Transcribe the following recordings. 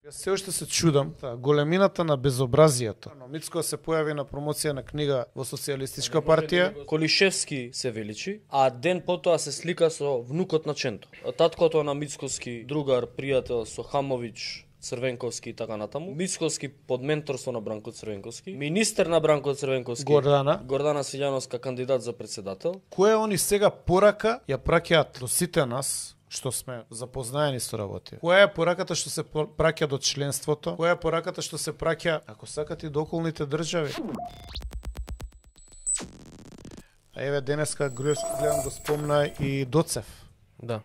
Јас се уште се чудам големината на безобразието. Мицко се појави на промоција на книга во Социјалистичка партија. Колишевски се величи, а ден потоа се слика со внукот на Ченто. Таткото на Мицковски, другар, пријател со Хамович, Црвенковски и така натаму. Мицковски под менторство на Бранко Црвенковски. Министер на Бранко Црвенковски. Гордана Силјановска, кандидат за председател. Кое они сега порака ја праќаат до сите нас, што сме запознаени со работи. Која е пораката што се праќа до членството? Која е пораката што се праќа, ако сакате, до околните држави? А еве денеска гледам го спомна и Доцев. Да.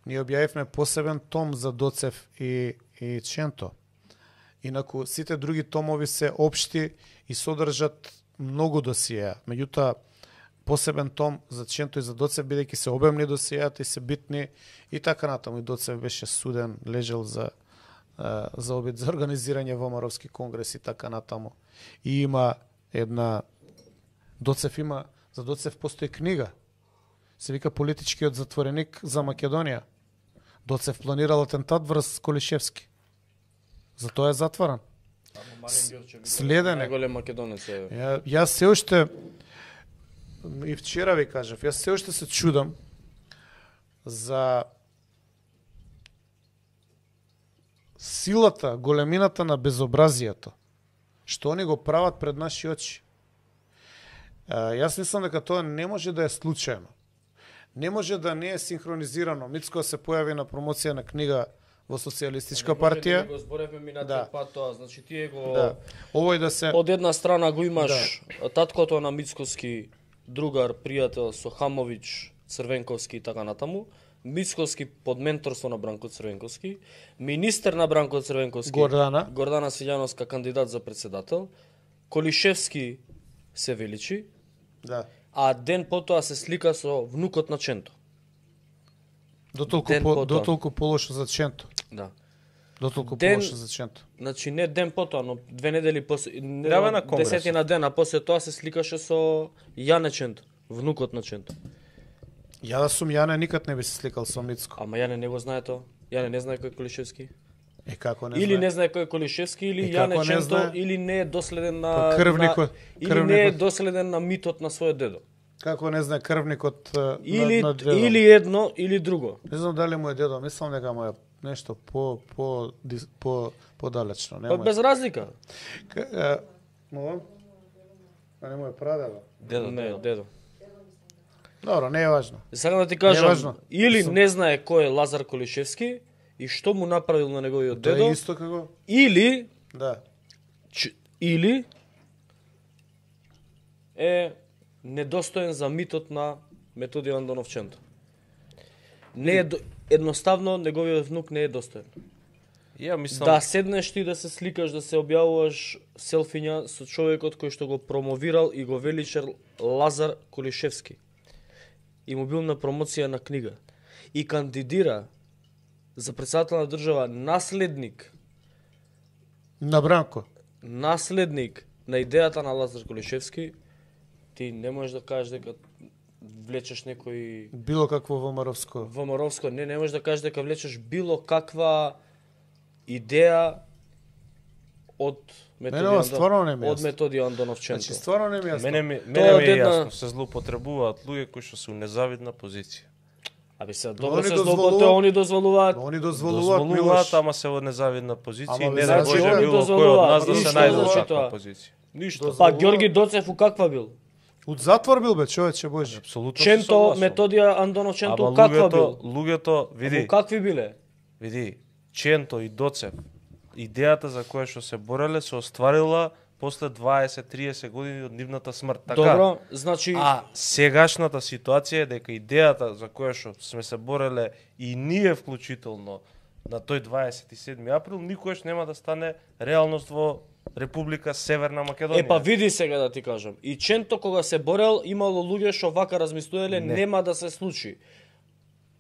Ние објавивме посебен том за Доцев и Ченто. Инаку сите други томови се општи и содржат многу досиеа. Меѓутоа посебен том за Ченто и за Доцев, бидејќи се обемни досиеата и се битни и така натаму. И Доцев беше суден, лежал за обид за организирање во Маровски конгрес и така натаму. И има една за Доцев постои книга. Се вика Политичкиот затвореник за Македонија. Доцев планирал атентат врз Колишевски. Затоа е затворен. Следен е. Најголем македонец е. Јас се уште и вчера ви кажав, јас се уште се чудам за силата, големината на безобразието, што они го прават пред наши очи. Јас мислам дека тоа не може да е случајно. Не може да не е синхронизирано. Мицко се појави на промоција на книга во Социјалистичка партија. Не го зборевме минатиот пат тоа, значи тие го Овој да се од една страна го имаш таткото на Мицковски, другар, пријател со Хамович, Црвенковски и така натаму. Мицковски под менторство на Бранко Црвенковски, министер на Бранко Црвенковски, Гордана Силјановска, кандидат за председател. Колишевски се величи. Да. А ден потоа се слика со внукот на Ченто. Дотолку полошо за Ченто. Да. Дотолку полошо за Ченто. Значи не ден потоа, но 2 недели после, 10 дена после тоа се сликаше со Јане Ченто, внукот на Ченто. Ја да сум Јане никад не би се сликал со Мицко. Ама Јане не го знае тоа. Јане не знае кој е Колишевски. Како не или знае? не знае кој е Колишевски, или Јане Ченто, или не е доследен на крвникот. не е доследен на митот на својот дедо. Како не знае крвникот на дедо? Или едно, или друго. Не знам дали му е дедо, мислам дека му е нешто подалечно. Па без разлика. Молам? А не му е прадедо? Дедо, не, дедо. Добро, не е важно. Сакам да ти кажам, или не знае кој е Лазар Колишевски и што му направил на неговиот дедо. Тоа е исто како? Или или е недостоен за митот на Методиј Андонов Ченто. Не е едноставно неговиот внук не е достоен. Ја мислам да седнеш ти да се сликаш, да се објавуваш селфиња со човекот кој што го промовирал и го величал Лазар Колишевски. И му бил на промоција на книга. И кандидира за председател на држава наследник на Бранко. Наследник на идејата на Лазар Колишевски. Ти не можеш да кажеш дека влечеш некој било какво во Маровско. Во Маровско не можеш да кажеш дека влечеш било каква идеја од Методиј Андонов Ченто. Значи стварно не ми е јасно. Мене ми е јасно, се злоупотребуваат луѓе кои што се у незавидна позиција. Абе се добро се злоупотребуваат, они дозволуваат. Они дозволуваат, ама се во незавидна позиција, не да може било кој од нас да се најде во таква позиција. Ништо. Па Ѓорги Доцев у каква бил? Од затвор бил бе, човече Божи. Апсолутно. Ченто, Методиј Андонов Ченто каква бил? Луѓето, види. Какви биле? Види, Ченто и Доцев, идејата за која што се бореле се остварила после 20-30 години од нивната смрт. Така? Добро, значи А сегашната ситуација е дека идејата за која што сме се бореле и ние вклучително на тој 27 април никогаш нема да стане реалност во Република Северна Македонија. Па види сега да ти кажам. И Ченто кога се борел, имало луѓе што вака размислувале нема да се случи.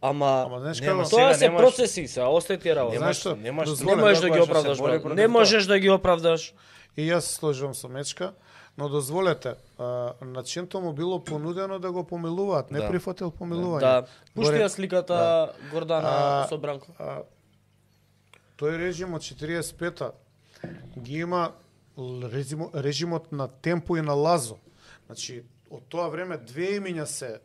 Ама тоа се процеси, се остајте работа. Не можеш да ги оправдаш. Не можеш да ги оправдаш. И јас сложувам со Мечка, но дозволете, на Ченто му било понудено да го помилуваат, не прифатил помилување. Да, пушти ја сликата Гордана со Бранко. тој режим од 45-та ги има режимот на Темпо и на Лазо. Значи, од тоа време две имиња се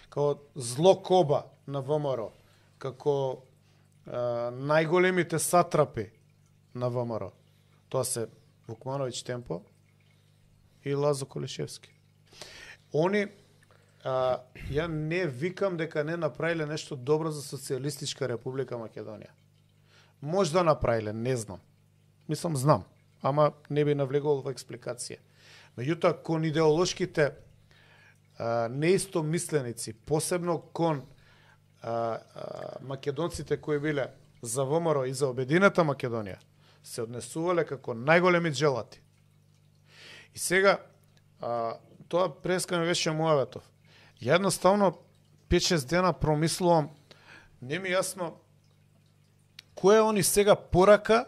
како зло коба на ВМРО, како најголемите сатрапи на ВМРО. Тоа се Вукмановиќ Темпо и Лазо Колишевски. Они, ја не викам дека не направиле нешто добро за Социјалистичка Република Македонија. Може да направиле, не знам. Мислам, знам, ама не би навлегувал во експликација. Меѓутоа, кон идеолошките неистомисленици, посебно кон македонците кои биле за ВМРО и за Обединета Македонија, се однесувале како најголеми джелати. И сега, тоа преска ми беше муаветов. Ја едноставно 5-6 дена промислувам, не ми јасно која они сега порака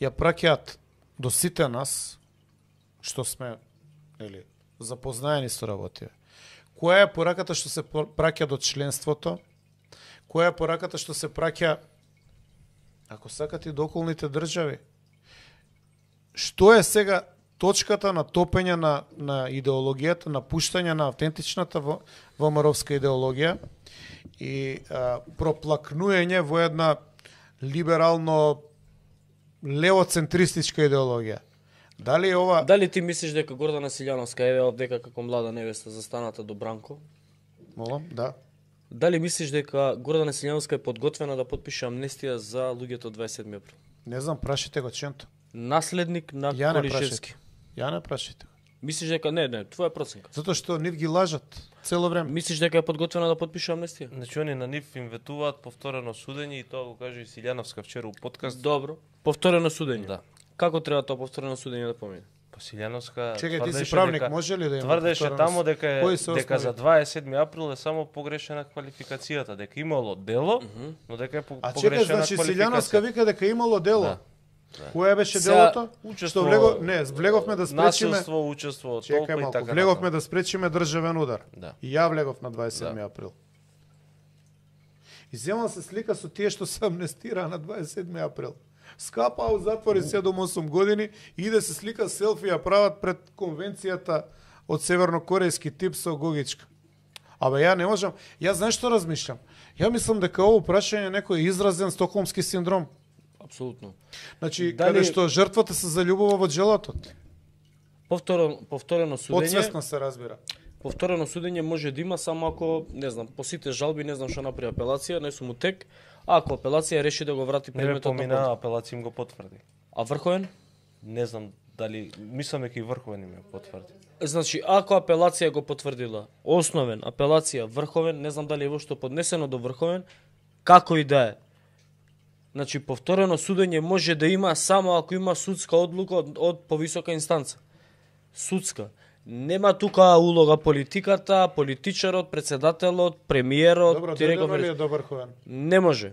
ја праќаат до сите нас, што сме запознаени со работите. Која е пораката што се праќа до членството? Која е пораката што се праќа, ако сакате, до околните држави? Што е сега точката на топење на идеологијата, на пуштање на автентичната ВМРО-вска идеологија и проплакнуење во една либерално левоцентристичка идеологија? Дали ти мислиш дека Гордана Силјановска е овдека како млада невеста застаната до Бранко? Молам, да. Дали мислиш дека Гордана Силјановска е подготвена да подпише амнестија за луѓето од 27 април? Не знам, прашите го Ченто. Наследник на Колишевски. Ја не прашите. Мислиш дека не, твоја проценка. Затоа што нив ги лажат цело време. Мислиш дека е подготвена да подпише амнестија? Значи они на нив им ветуваат повторено судење и тоа го каже и Силјановска вчера у подкаст. Добро. Повторено судење. Да. Како треба тоа повторено судење да помине? Па Силјановска Чекај, ти си правник, може ли да има? Тврдеше тамо дека за 27 април е само погрешена квалификацијата, дека имало дело, но дека е погрешена квалификација. А чекај, значи Силјановска вика дека имало дело. Да. Која беше делото? Учество, влеговме да спречиме. Насилство, учество, толку и така. Влеговме да спречиме државен удар. Да. И ја влегов на 27 април. И земал се слика со тие што се амнестираа на 27 април. Скапаа у затвори 7-8 години и иде се слика селфи ја прават пред конвенцијата од севернокорејски тип со Гогичка. Абе ја не можам, ја знаеш што размишлам? Ја мислам дека ово прашање некој изразен стокхолмски синдром. Апсолутно. Значи, каде што жртвата се заљубува во джелатот. Повторено судење. Подсвесно се разбира. Повторено судење може да има само ако, не знам, по сите жалби, не знам што направи апелација, не сум утек, а ако апелација реши да го врати предметот на помина, апелација им го потврди. А Врховен? Не знам дали, мислам дека и Врховен им ја потврди. Значи, ако апелација го потврдила, основен, апелација, Врховен, не знам дали е вошто поднесено до Врховен, како и да е. Значи, повторено судење може да има само ако има судска одлука од повисока инстанца. Судска. Нема тука улога политиката, политичарот, председателот, премиерот, Добро, дојдено ли е до Врховен? Не може.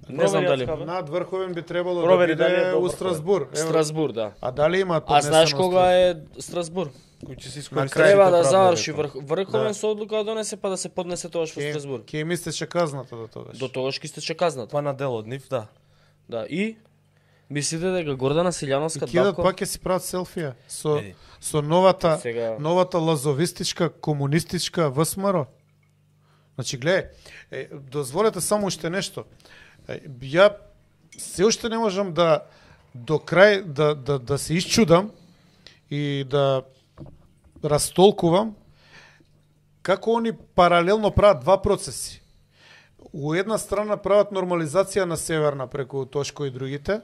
Не знам дали. Над Врховен би требало да биде у Страсбур. Страсбур, да. А дали има поднесено? А знаеш кога е Страсбур? Кој ќе се искористи? Треба да заврши Врховен со одлука да донесе па да се поднесе тогаш во Страсбур. Ке им истече казната до тогаш. До тогаш ке истече казната. Па на дел од нив, да. Да, и мислите дека Гордана Силјановска кидат пак ќе си прават селфија со новата лазовистичка комунистичка ВСМР. Значи гледај, дозволете само уште нешто. Ја се уште не можам да до крај да се исчудам и да растолкувам како они паралелно прават два процеси. У една страна прават нормализација на Северна преку Тошко и другите,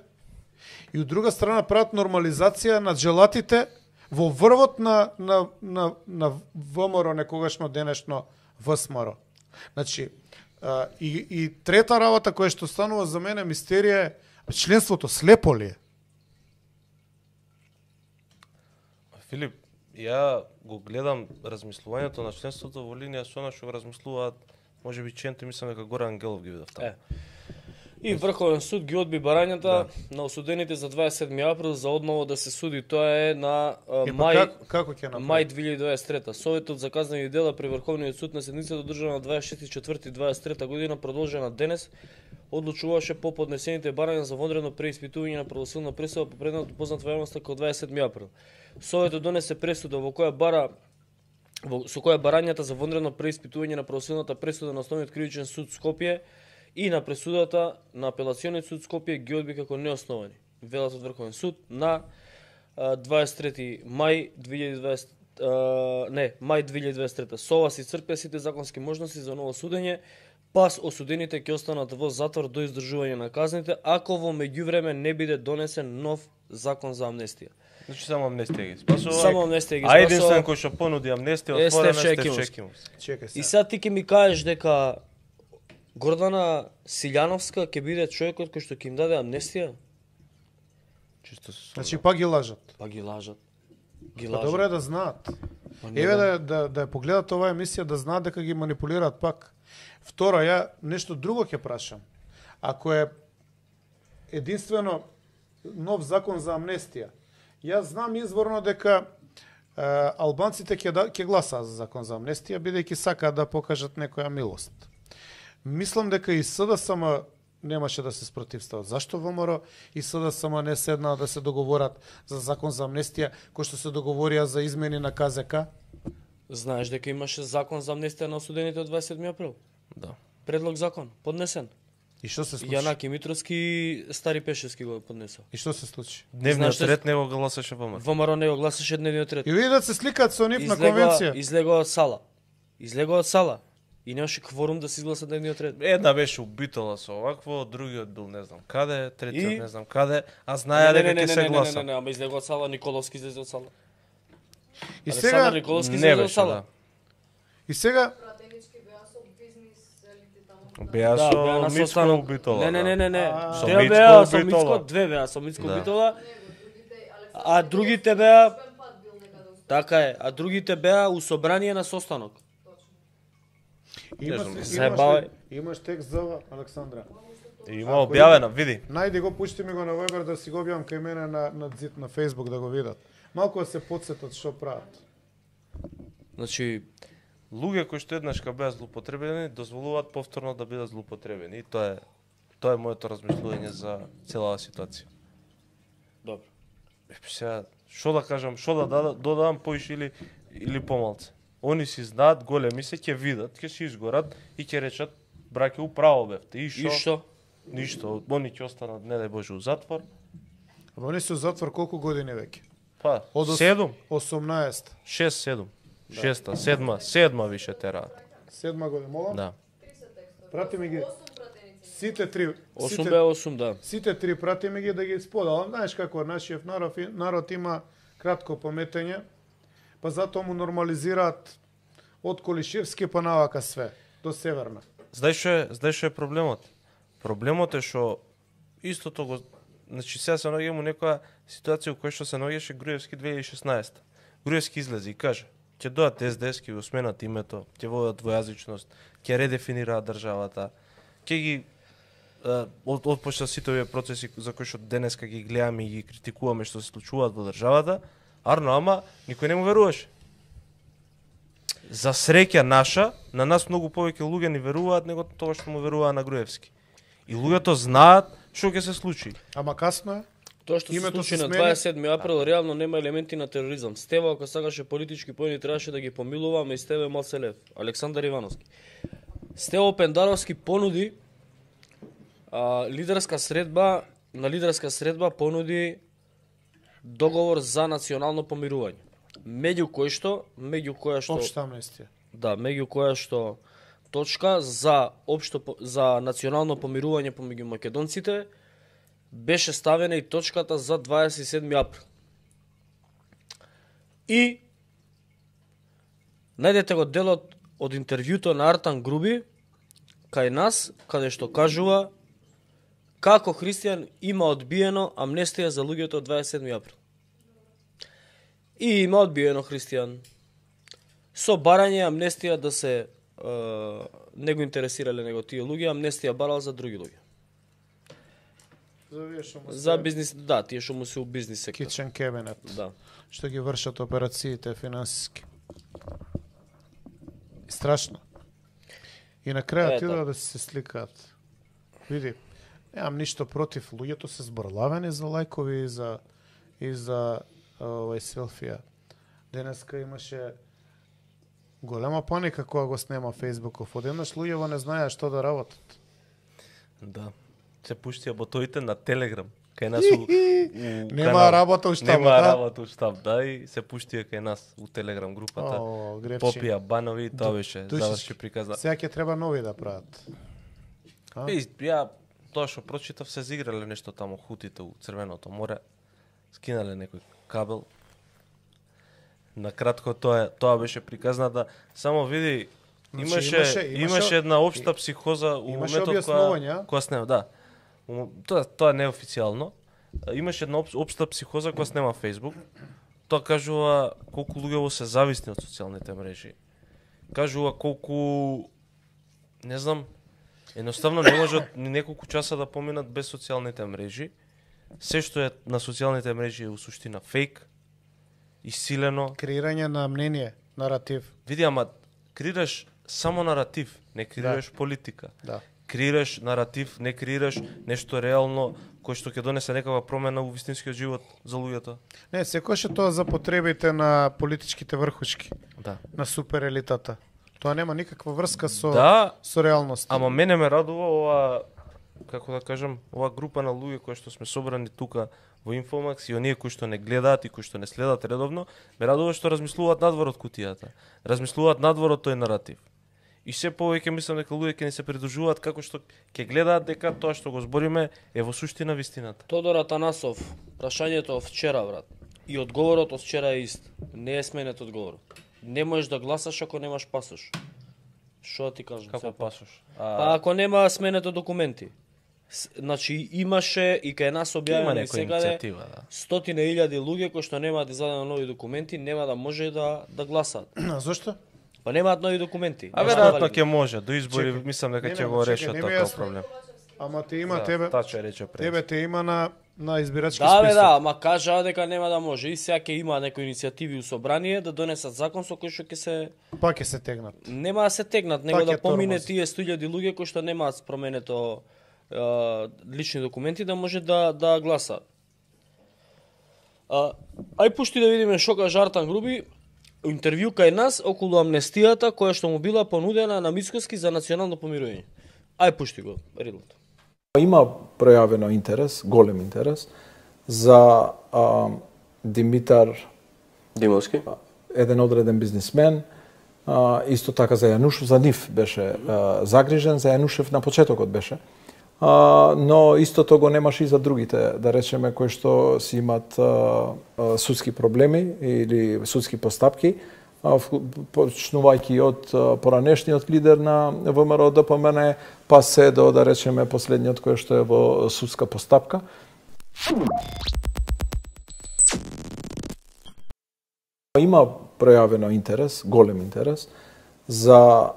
и од друга страна прават нормализација на джелатите во врвот на ВМРО, некогашно денешно ВСМР. Значи, и трета работа која што станува за мене мистерија е членството слепо ли е? Филип, ја го гледам размислувањето на членството во линија со она што го размислуваат, може би Ченто, мислам дека Горан Ангелов ги видов таму. И Врховен суд ги одби барањата на осудените за 27 април за одново да се суди. Тоа е на мај 2023. Советот за казнени дела при Врховниот суд на седницата одржана на 26.4.23 година продолжена денес одлучуваше по поднесените барања за вонредно преиспитување на правосудна пресуда по предметот познат во јавноста како 27 април. Советот донесе пресуда со која барањата за вонредно преиспитување на правосудната пресуда на Основниот кривичен суд Скопје и на пресудата на Апелациониот суд Скопје ги одби како неосновани. Велат од Врховен суд на 23 мај 2023. Со ова се исцрпија сите законски можности за ново судење, пас осудените ќе останат во затвор до издржување на казните, ако во меѓувреме не биде донесен нов закон за амнестија. Значи само амнестија ги спасува. Само амнестија ги спасува. А единствен кој што понуди амнестија отворена Стеф Чекимовски. Чекај се. И сега ти ќе ми кажеш дека Гордана Силјановска ќе биде човекот кој што ќе им даде амнестија? Чисто се. Значи пак ги лажат. Па ги лажат. Ги Па лажат. добро е да знаат. не Еве да. да ја погледат оваа емисија, да знаат дека ги манипулираат пак. Второ, ја нешто друго ќе прашам. Ако е единствено нов закон за амнестија, јас знам изворно дека албанците ќе гласаат за закон за амнестија, бидејќи сакаат да покажат некоја милост. Мислам дека и СДСМ немаше да се спротивстават. Зашто ВМРО и СДСМ не седнаа да се договорат за закон за амнестија, кој што се договорија за измени на КЗК? Знаеш дека имаше закон за амнестија на осудените од 27 април? Да. Предлог закон, поднесен. И што се случи? Јанаки Митровски и Стари Пешевски го поднесо. И што се случи? Дневниот Знаеш, ред не го гласаше ВМРО. ВМРО не го гласаше дневниот ред. И видат се сликаат со нив на конвенција. Излегоа од сала. Излегоа од сала. И немаше кворум да се изгласа дневниот ред. Една беше убитола со овакво, другиот бил не знам каде, третиот И? не знам каде, а знаја дека ќе се гласа. Не, ама излегоа од сала, Николовски излезе од сала. И Александар сега Николовски Не излезе од беше, сала. да. и сега Пратенички беа со бизнис елите таму. Беа Да, беа со на Мицко состанок. убитола. Не. Со Тие Мицко беа со убитола. Мицко, две беа со Мицко Да. убитола, Другите а другите беа пат бил некаде успен. така е, а другите беа у собрание на состанок. имаш, Заебавај. имаш текст за ова, Александра. Има објавено, види. Најди го, пушти ми го на Viber да си го објавам кај мене на зид на Facebook да го видат. Малку да се подсетат што прават. Значи, Луѓе кои што еднашка беа злоупотребени, дозволуваат повторно да бидат злоупотребени. И тоа е моето размислување за целава ситуација. добро. Сега, што да кажам, што да додадам поише или помалце. Они си знаат, големи се, ќе видат, ќе се изгорат и ќе речат, браке, управо бевте. И И што? што? Ништо, они ќе останат, не дај Боже, у затвор. Ама они се у затвор колку години веќе? Па, Од 7, 18. 6, 7. 6, 7 више тераат. 7 година, молам? Да. Прати ми ги 8 пратеници. сите три. 8 беа 8, да. Сите три прати ми ги да ги споделам. Знаеш како нашиот народ има кратко паметење, па затоа му нормализираат од Колишевски па навака све, до Северна. Знаеш што е проблемот? Проблемот е што истото го... Значи, сега се наоѓам у некоја ситуација у која што се наоѓаше Груевски 2016. Груевски излезе и каже, ќе дојдат СДС, ќе го сменат името, ќе водат двојазичност, ќе редефинираат државата, ќе ги отпочнат сите овие процеси за кои што денеска ги гледаме и ги критикуваме што се случуваат во државата, арно, ама никој не му веруваше. За среќа наша, на нас многу повеќе луѓе ни веруваат него тоа што му веруваа на Груевски. И луѓето знаат што ќе се случи. Ама касно е? Тоа што се Името случи се на смени. 27 април реално нема елементи на тероризам. Стева, ако сакаше политички поени, требаше да ги помилува, ама и Стеве Малселев, Александар Ивановски. Стево Пендаровски понуди лидерска средба понуди договор за национално помирување. Меѓу која што Општа амнестија. Да, меѓу која што точка за национално помирување помеѓу македонците беше ставена и точката за 27 април. И најдете го делот од интервјуто на Артан Груби кај нас, каде што кажува како христијан има одбиено амнестија за луѓето од 27 април. И има одбиено христијан со барање амнестија да се не го интересирале него тие луѓе, амнестија барал за други луѓе. За бизнис, да, тие што му се у бизнис сектор. Kitchen cabinet. Да. Што ги вршат операциите финансиски. И страшно. И на крај Е, отидоа така. да се сликаат. види, немам ништо против, луѓето се зборлавени за лајкови и за овај селфија. Денеска имаше голема паника кога го снема Фејсбуков. Одеднаш луѓето не знаеа што да работат. Да. Се пуштија ботовите на Телеграм. Кај нас Нема работа у штабот, Нема да? работа у штаб, да, и се пуштија кај нас у Телеграм групата. О, грефчи. Попија банови, тоа беше заврши приказна. Сега ќе треба нови да прават. Ја тоа што прочитав се зиграле нешто таму хутите у Црвеното море. Скинале некој кабел. На кратко тоа беше приказната. Само види, имаше една општа психоза у моментот кога снема, да. Тоа не е официјално. Имаше една општа психоза кога снема Facebook. Тоа кажува колку луѓе се зависни од социјалните мрежи. Кажува колку, не знам, едноставно не можат ни неколку часа да поминат без социјалните мрежи. Се што е на социјалните мрежи е у суштина фейк, исилено. Креирање на мнение, наратив. Види, ама креираш само наратив, не креираш политика. Да. Креираш наратив, не креираш нешто реално кој што ќе донесе некаква промена у вистинскиот живот за луѓето. Не, секојаш е тоа за потребите на политичките врхушки, Да. на суперелитата. Тоа нема никаква врска со реалноста. Ама мене ме радува ова, како да кажам, ова група на луѓе кои што сме собрани тука во Инфомакс и оние кои што не гледаат и кои што не следат редовно, ме радува што размислуваат надвор од кутијата. Размислуваат надвор од тој наратив. И се повеќе мислам дека луѓе ќе ни се придружуваат како што ќе гледаат дека тоа што го збориме е во суштина вистината. Тодор Атанасов, прашањето од вчера, брат, и одговорот од вчера е ист. Не е сменет одговорот. Не можеш да гласаш ако немаш пасош. Што ти кажам? Како пасош? Па ако нема сменето документи. Значи имаше и кај нас објавено секаде стотина илјади луѓе кои што немаат издадено нови документи, нема да може да гласаат. Зошто? Па немаат нови документи. А веројатно ќе може, до избори мислам дека ќе го решат тој проблем. Ама те има тебе. Тачо рече пред. Тебе те има на избирачки список. Да, да, ама кажаа дека нема да може. И сега ќе има некои иницијативи у собрание да донесат закон со кој што ќе се ќе се тегнат. Нема да се тегнат, него да помине тие 100.000 луѓе кои што немаат променето лични документи да може да гласаат. Ај пушти да видиме што кажа Артан Груби. Интервју кај нас околу амнестијата која што му била понудена на Мицкоски за национално помирување. Ај пушти го, Рилот. Има пројавено интерес, голем интерес, за Димитар Димовски, еден одреден бизнисмен, исто така за Јанушев, за нив беше загрижен, за Јанушев на почетокот беше. Но истото го немаше и за другите, да речеме, кои што си имат судски проблеми или судски постапки, почнувајќи од поранешниот лидер на ВМРО ДПМН, па се до, да речеме, последниот кој што е во судска постапка. Има пројавено интерес, голем интерес, за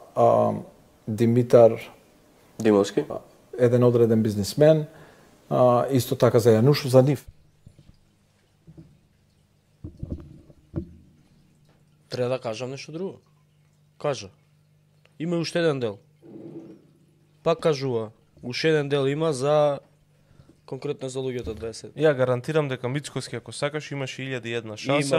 Димитар Димовски, еден одреден бизнисмен, исто така за Јанушев, за нив. Треба да кажам нешто друго. Кажа. Има уште еден дел. Пак кажува. Уште еден дел има за конкретно за луѓето 20. Ја гарантирам дека Мицкоски ако сакаш имаше 1001 шанса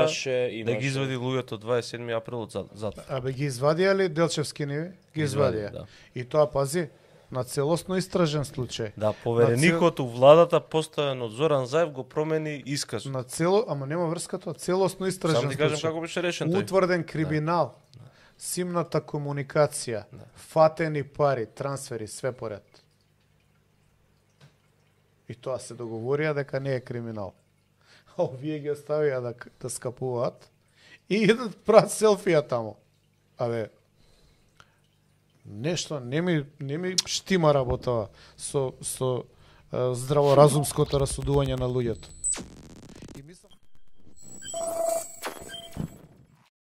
да ги извади луѓето 27 април од затвор. Абе ги извадија ли Делчевски ниви? Ги извадија. Да. И тоа пази на целосно истражен случај. Да, повереникот у владата поставен од Зоран Заев го промени исказ. На ама нема врска тоа, целосно истражен случај. Само ти кажам како беше решен тој. Утврден криминал. Да. Симната комуникација, фатени пари, трансфери, све поред. И тоа се договорија дека не е криминал. А овие ги оставија да скапуваат и идат прават селфија таму. Абе, нешто не ми штима работава со здраворазумското расудување на луѓето.